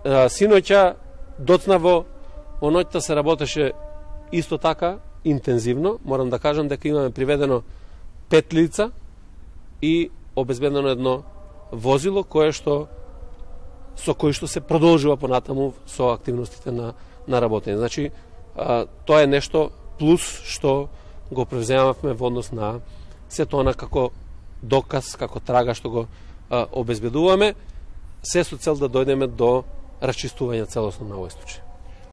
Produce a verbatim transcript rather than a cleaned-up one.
Синоќа доцнаво во ноќта се работеше исто така интензивно. Морам да кажам дека имаме приведено пет лица и обезбедено едно возило кое што со кој што се продолжува понатаму со активностите на на работење. Значи а, тоа е нешто плюс што го превземавме во однос на сето она како доказ, како трага што го а, обезбедуваме, се со цел да дојдеме до расчистување целосно на овој случај.